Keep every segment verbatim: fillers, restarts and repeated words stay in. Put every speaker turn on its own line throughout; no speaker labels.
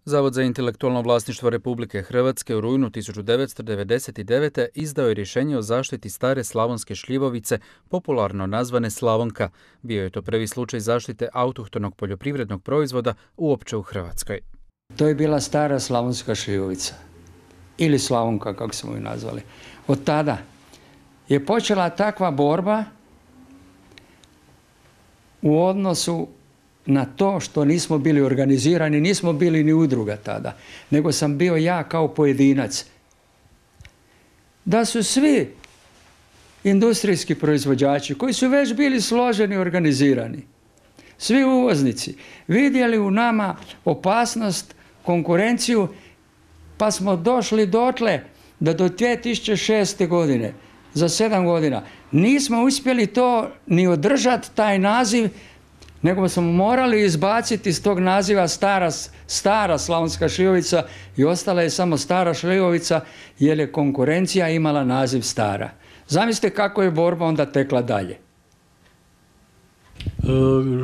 Zavod za intelektualno vlasništvo Republike Hrvatske u rujnu tisuću devetsto devedeset devete. izdao je rješenje o zaštiti stare slavonske šljivovice, popularno nazvane Slavonka. Bio je to prvi slučaj zaštite autohtonog poljoprivrednog proizvoda uopće u Hrvatskoj.
To je bila stara slavonska šljivovica, ili Slavonka kako smo ju nazvali. Od tada je počela takva borba u odnosu na to što nismo bili organizirani, nismo bili ni udruga tada, nego sam bio ja kao pojedinac. Da su svi industrijski proizvođači koji su već bili složeni i organizirani, svi uvoznici, vidjeli u nama opasnost, konkurenciju, pa smo došli dotle da do dvije tisuće šeste. godine, za sedam godina, nismo uspjeli to ni održati, taj naziv, nego smo morali izbaciti iz tog naziva stara, stara slavonska šljivovica i ostala je samo stara šljivovica jer je konkurencija imala naziv stara. Zamislite kako je borba onda tekla dalje.
E,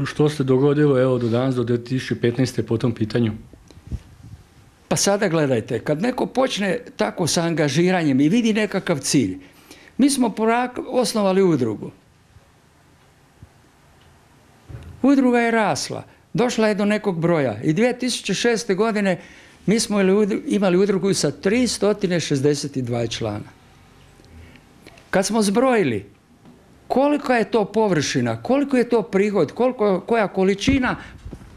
što se dogodilo evo, do danas, do dvije tisuće petnaeste. po tom pitanju?
Pa sada gledajte, kad neko počne tako sa angažiranjem i vidi nekakav cilj, mi smo osnovali udrugu. Udruga je rasla, došla je do nekog broja i dvije tisuće šeste. godine mi smo imali udrugu sa tristo šezdeset dva člana. Kad smo zbrojili kolika je to površina, koliko je to prihod, koliko, koja količina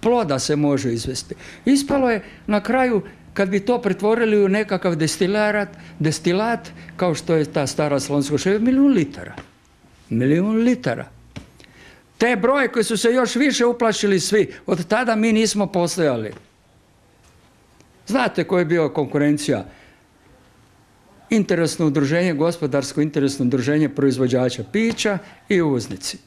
ploda se može izvesti, ispalo je na kraju, kad bi to pretvorili u nekakav destilat, destilat kao što je ta stara slavonska šljivovica, milijun litara. Milijun litara. Te broje koji su se još više uplašili svi, od tada mi nismo postojali. Znate koja je bila konkurencija? Interesno udruženje, gospodarsko interesno udruženje proizvođača pića i uvoznici.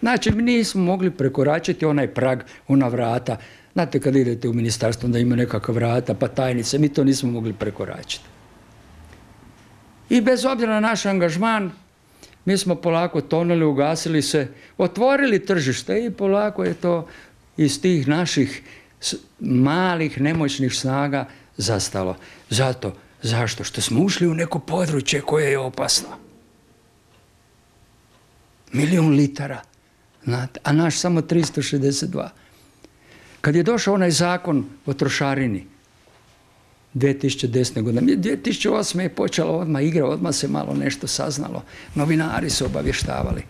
Znači, mi nismo mogli prekoračiti onaj prag, ona vrata. Znate, kad idete u ministarstvo, onda ima nekakva vrata, pa tajnice, mi to nismo mogli prekoračiti. I bez obzira na naš angažman, mi smo polako tonuli, ugasili se, otvorili tržište i polako je to iz tih naših malih, nemoćnih snaga zastalo. Zato, zašto? Što smo ušli u neko područje koje je opasno. Milijun litara, a naš samo tristo šezdeset dva. Kad je došao onaj zakon o trošarini, dvije tisuće desete. godine, dvije tisuće osme. je počela odmah igra, odmah se malo nešto saznalo. Novinari su obavještavali.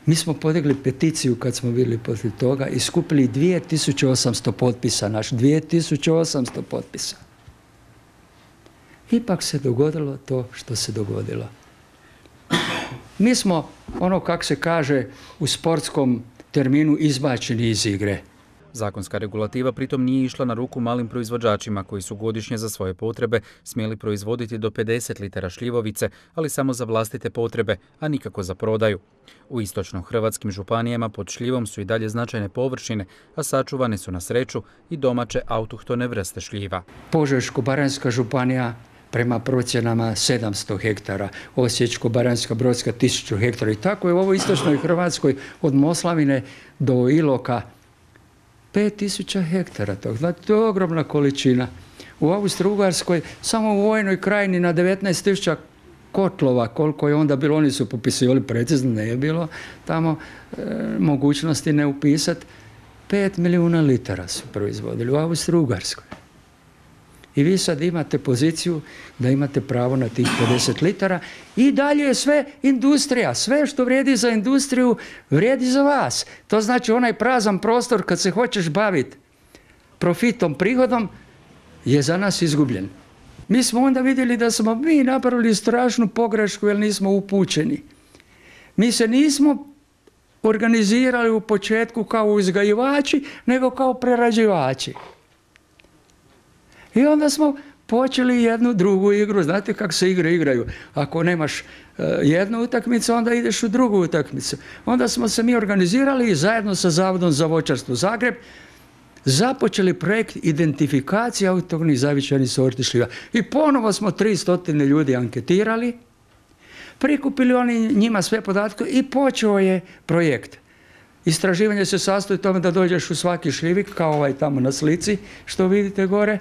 Mi smo podigli peticiju kad smo bili protiv toga i skupili dvije tisuće osamsto potpisa, naš dvije tisuće osamsto potpisa. Ipak se dogodilo to što se dogodilo. Mi smo, ono kako se kaže u sportskom terminu, izbačeni iz igre.
Zakonska regulativa pritom nije išla na ruku malim proizvođačima koji su godišnje za svoje potrebe smjeli proizvoditi do pedeset litara šljivovice, ali samo za vlastite potrebe, a nikako za prodaju. U istočno-hrvatskim županijama pod šljivom su i dalje značajne površine, a sačuvane su na sreću i domaće autohtone vrste šljiva.
Požeško-baranjska županija prema procjenama sedamsto hektara, Osječko-baranjska Brodska tisuću hektara i tako je u ovoj istočnoj Hrvatskoj od Moslavine do Iloka pet tisuća hektara tog. Znači, to je ogromna količina. U Austro-Ugarskoj samo u Vojnoj krajini na devetnaest tisuća kotlova, koliko je onda bilo, oni su popisivali precizno, ne je bilo tamo e, mogućnosti ne upisati, pet milijuna litara su proizvodili u Austro-Ugarskoj. I vi sad imate poziciju da imate pravo na tih pedeset litara i dalje je sve industrija. Sve što vrijedi za industriju vrijedi za vas. To znači onaj prazan prostor kad se hoćeš baviti profitom, prihodom je za nas izgubljen. Mi smo onda vidjeli da smo mi napravili strašnu pogrešku jer nismo upućeni. Mi se nismo organizirali u početku kao uzgajivači, nego kao prerađivači. I onda smo počeli jednu drugu igru. Znate kako se igre igraju? Ako nemaš uh, jednu utakmicu, onda ideš u drugu utakmicu. Onda smo se mi organizirali i zajedno sa Zavodom za voćarstvo Zagreb započeli projekt identifikacije autohtonih zavičajnih sorti šljiva. I ponovo smo tristo ljudi anketirali, prikupili oni njima sve podatke i počeo je projekt. Istraživanje se sastoji u tome da dođeš u svaki šljivik, kao ovaj tamo na slici, što vidite gore,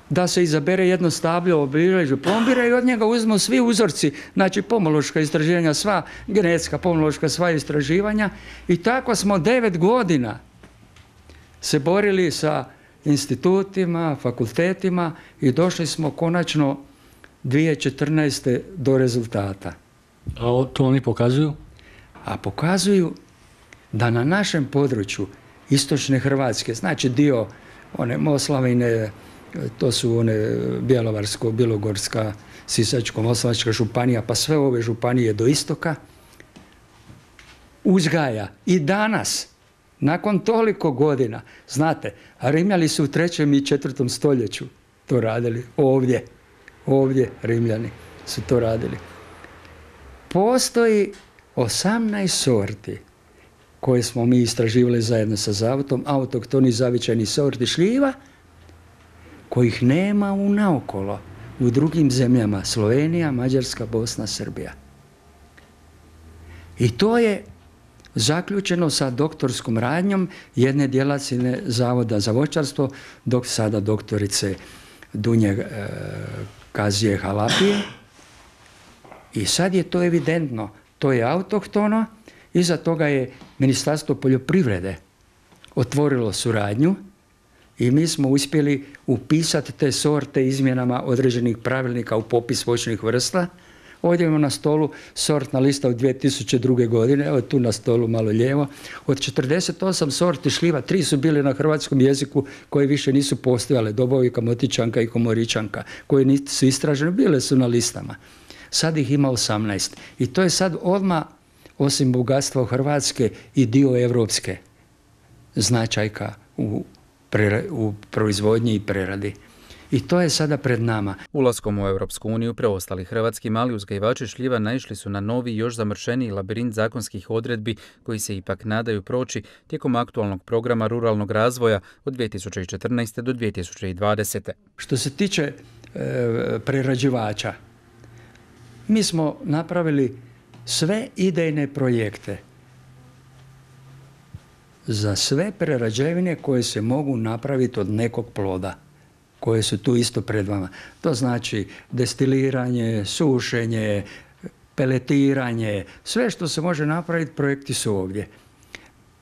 da se izabere jedno stablo, obilježje plombira i od njega uzmu svi uzorci, znači pomološka istraživanja, sva genetska, pomološka, sva istraživanja. I tako smo devet godina se borili sa institutima, fakultetima i došli smo konačno dvije tisuće četrnaeste. do rezultata.
A to oni pokazuju?
A pokazuju da na našem području istočne Hrvatske, znači dio one Moslavine, to su one Bjelovarsko, Bilogorska, Sisačko-moslavačka županija, pa sve ove županije do istoka, uzgaja i danas, nakon toliko godina, znate, Rimljani su u trećem i četvrtom stoljeću to radili, ovdje, ovdje Rimljani su to radili. Postoji osamnaest sorti koje smo mi istraživali zajedno sa zavodom, autohtoni zavičajni sorti šljiva, kojih nema u naokolo u drugim zemljama, Slovenija, Mađarska, Bosna, Srbija. I to je zaključeno sa doktorskom radnjom jedne djelatnice Zavoda za voćarstvo, dok sada doktorice Dunje e, Kazije Halapije. I sad je to evidentno, to je autohtono, iza toga je Ministarstvo poljoprivrede otvorilo suradnju i mi smo uspjeli upisati te sorte izmjenama određenih pravilnika u popis voćnih vrsta. Ovdje imamo na stolu sortna lista od dvije tisuće druge. godine, evo tu na stolu malo lijevo. Od četrdeset osam sorti šljiva, tri su bile na hrvatskom jeziku koje više nisu postojale, Dobovika, Motičanka i Komoričanka, koje nisu istražene, bile su na listama. Sad ih ima osamnaest. I to je sad odmah, osim bogatstva Hrvatske, i dio evropske značajka u, u proizvodnji i preradi. I to je sada pred nama.
Ulaskom u Europsku uniju preostali hrvatski mali uzgajivači šljiva naišli su na novi, još zamršeniji labirint zakonskih odredbi koji se ipak nadaju proći tijekom aktualnog programa ruralnog razvoja od dvije tisuće četrnaeste. do dvije tisuće dvadesete.
Što se tiče e, prerađivača, mi smo napravili sve idejne projekte za sve prerađevine koje se mogu napraviti od nekog ploda, koje su tu isto pred vama. To znači destiliranje, sušenje, peletiranje, sve što se može napraviti, projekti su ovdje.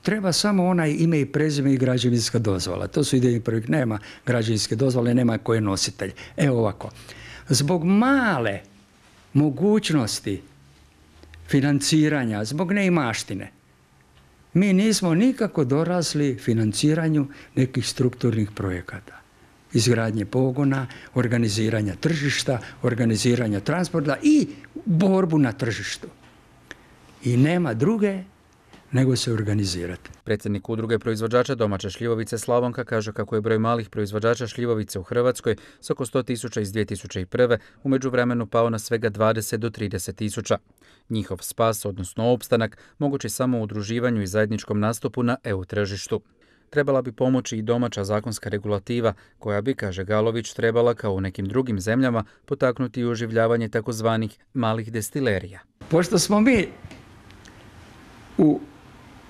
Treba samo onaj ime i prezime i građevinska dozvola. To su idejni projekti. Nema građevinske dozvole, nema ko je nositelj. Evo ovako. Zbog male mogućnosti financiranja, zbog neimaštine, mi nismo nikako dorasli financiranju nekih strukturnih projekata. Izgradnje pogona, organiziranja tržišta, organiziranja transporta i borbu na tržištu. I nema druge nego se organizirati.
Predsjednik udruge proizvođača domaće šljivovice Slavonka kaže kako je broj malih proizvođača šljivovice u Hrvatskoj s oko sto tisuća iz dvije tisuće prve. u međuvremenu pao na svega dvadeset do trideset tisuća. Njihov spas, odnosno opstanak, moguće samo u udruživanju i zajedničkom nastupu na E U tržištu. Trebala bi pomoći i domaća zakonska regulativa koja bi, kaže Galović, trebala kao u nekim drugim zemljama potaknuti i oživljavanje takozvanih malih destilerija.
Pošto smo mi u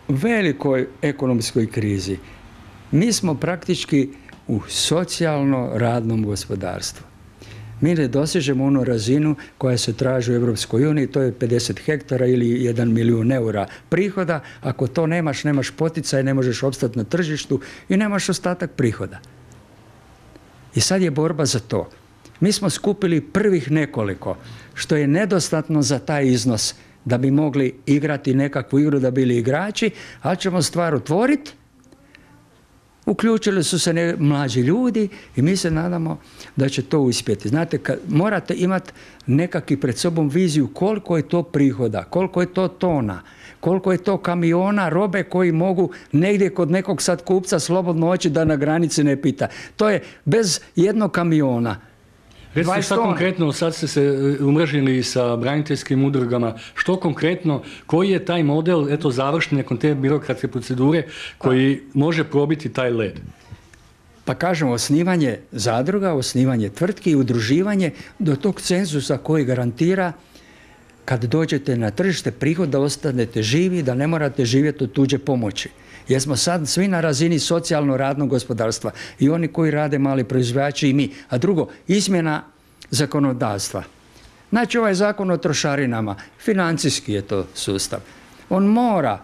velikoj ekonomskoj krizi, mi smo praktički u socijalno-radnom gospodarstvu. Mi ne dosežemo onu razinu koja se traži u Europskoj uniji, to je pedeset hektara ili jedan milijun eura prihoda. Ako to nemaš, nemaš poticaj, ne možeš opstati na tržištu i nemaš ostatak prihoda. I sad je borba za to. Mi smo skupili prvih nekoliko, što je nedostatno za taj iznos da bi mogli igrati nekakvu igru, da bili igrači, ali ćemo stvar otvoriti. Uključili su se ne, mlađi ljudi i mi se nadamo da će to uspjeti. Znate, kad morate imati nekakvi pred sobom viziju koliko je to prihoda, koliko je to tona, koliko je to kamiona robe koji mogu negdje kod nekog sad kupca slobodno oći da na granici ne pita. To je bez jednog kamiona.
Recite šta konkretno, sad ste se umrežili sa braniteljskim udrugama, što konkretno, koji je taj model, eto završni nakon te birokratske procedure, koji pa, može probiti taj led?
Pa kažemo, osnivanje zadruga, osnivanje tvrtki i udruživanje do tog cenzusa koji garantira kad dođete na tržište prihod da ostanete živi, da ne morate živjeti od tuđe pomoći. Jer smo sad svi na razini socijalno-radnog gospodarstva. I oni koji rade, mali proizvođači i mi. A drugo, izmjena zakonodavstva. Znači ovaj zakon o trošarinama, financijski je to sustav. On mora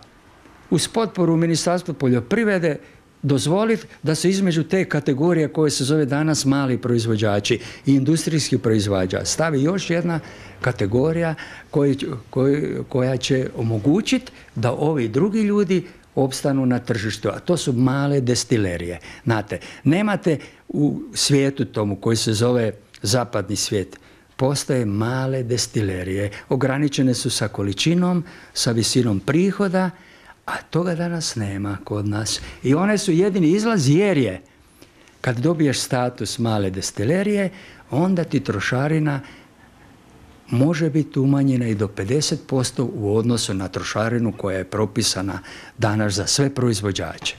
uz potporu Ministarstva poljoprivrede dozvoliti da se između te kategorije koje se zove danas mali proizvođači i industrijski proizvođač stavi još jedna kategorija koji, koji, koja će omogućiti da ovi drugi ljudi opstanu na tržištu, a to su male destilerije. Znate, nemate u svijetu tomu koji se zove zapadni svijet, postoje male destilerije, ograničene su sa količinom, sa visinom prihoda, a toga danas nema kod nas. I one su jedini izlaz jer je, kad dobiješ status male destilerije, onda ti trošarina može biti umanjena i do pedeset posto u odnosu na trošarinu koja je propisana danas za sve proizvođače.